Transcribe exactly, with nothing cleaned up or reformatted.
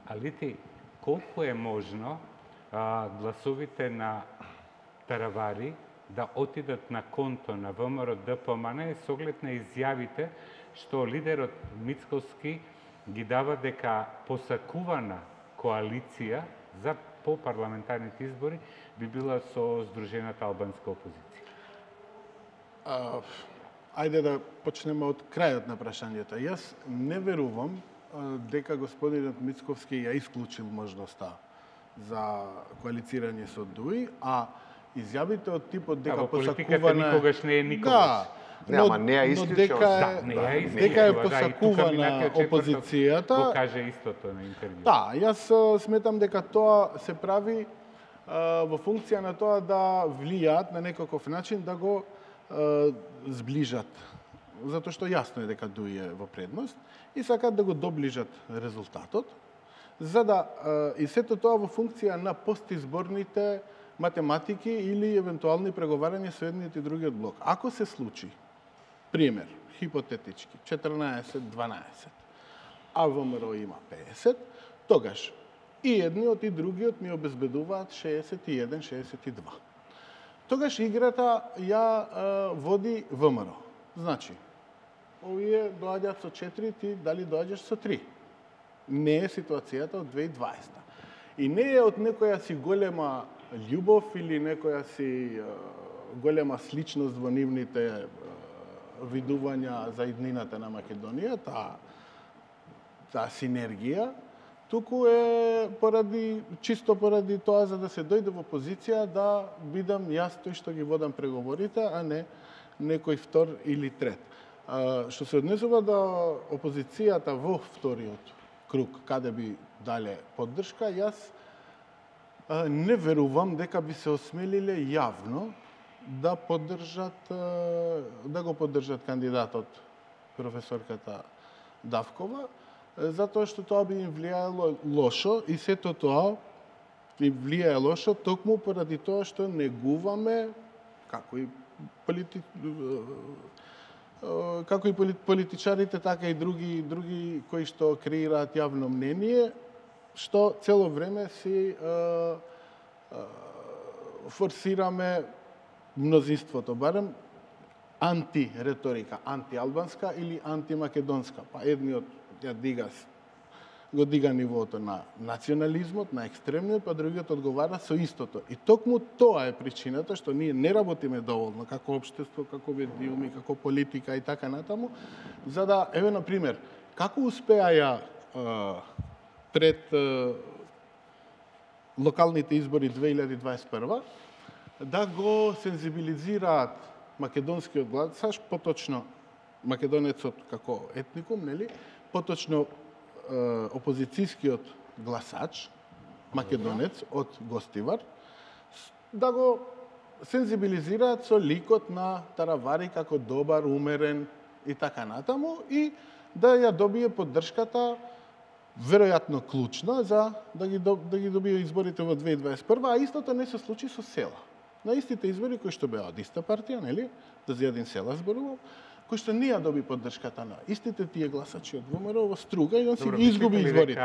Алити, колку е можно а, гласовите на Таравари да отидат на конто на ВМРО Д П М Н с оглед на изјавите што лидерот Мицковски ги дава дека посакувана коалиција за по парламентарните избори би била со Сдружената албанска опозиција? А, ајде да почнеме од крајот на прашањето. Јас не верувам а, дека господинот Мицковски ја исклучил можноста за коалицирање со ДУИ, а изјавите од типот дека да, посакувана... никогаш не е никогаш. Да, Не, ама не ја исклучил. Да, не ја исклучил. Дека е посакувана опозицијата. Го каже истото на интервју. Да, јас сметам дека тоа се прави а, во функција на тоа да влијаат на некаков начин да го а, зближат. Затоа што јасно е дека ДУИ е во предност и сакаат да го доближат резултатот, за да а, и сето тоа во функција на постизборните математики или евентуални преговарања со едниот и другиот блок. Ако се случи, пример, хипотетички, четрнаесет дванаесет, а ВМРО има пеесет, тогаш и едниот и другиот ми обезбедуваат шеесет и еден шеесет и два. Тогаш играта ја а, води ВМРО. Значи, овие доаѓаат со четири, ти дали доаѓаш со три. Не е ситуацијата од две илјади и дваесета. И не е од некоја си голема љубов или некоја си а, голема сличност во нивните а, видувања за иднината на Македонија, таа таа синергија, туку е поради чисто поради тоа за да се дојде во позиција да бидам јас тој што ги водам преговорите, а не некој втор или трет. А, што се однесува до опозицијата во вториот круг, каде би дале поддршка, јас а, не верувам дека би се осмелиле јавно да поддржат да го поддржат кандидатот професорката Давкова, затоа што тоа би им влијаело лошо и сето тоа им влијае лошо токму поради тоа што негуваме како и полити... како и политичарите, така и други други кои што креираат јавно мнение, што цело време си а, а, форсираме мнозинството, барем антиреторика, антиалбанска или антимакедонска. Па едниот ја дига, го дига нивото на национализмот, на екстремниот, па другиот одговара со истото. И токму тоа е причината што ние не работиме доволно како општество, како медиуми, како политика и така натаму, за да, еве на пример, како успеа ја пред локалните избори две илјади дваесет и прва да го сензибилизираат македонскиот гласаш, поточно македонецот како етникум, нели? Поточно е, опозицијскиот гласач, македонец од Гостивар, да го сензибилизираат со ликот на Таравари како добар, умерен и така натаму и да ја добие поддршката веројатно клучна за да ги да ги добие изборите во две илјади дваесет и прва, а истото не се случи со Села. На истите избори кои што беа од иста партија, нели? Да Зијадин Села зборувам, кој што не ја доби поддршката на истите тие гласачи од ВМРО во Струга и он си ги изгуби изборите.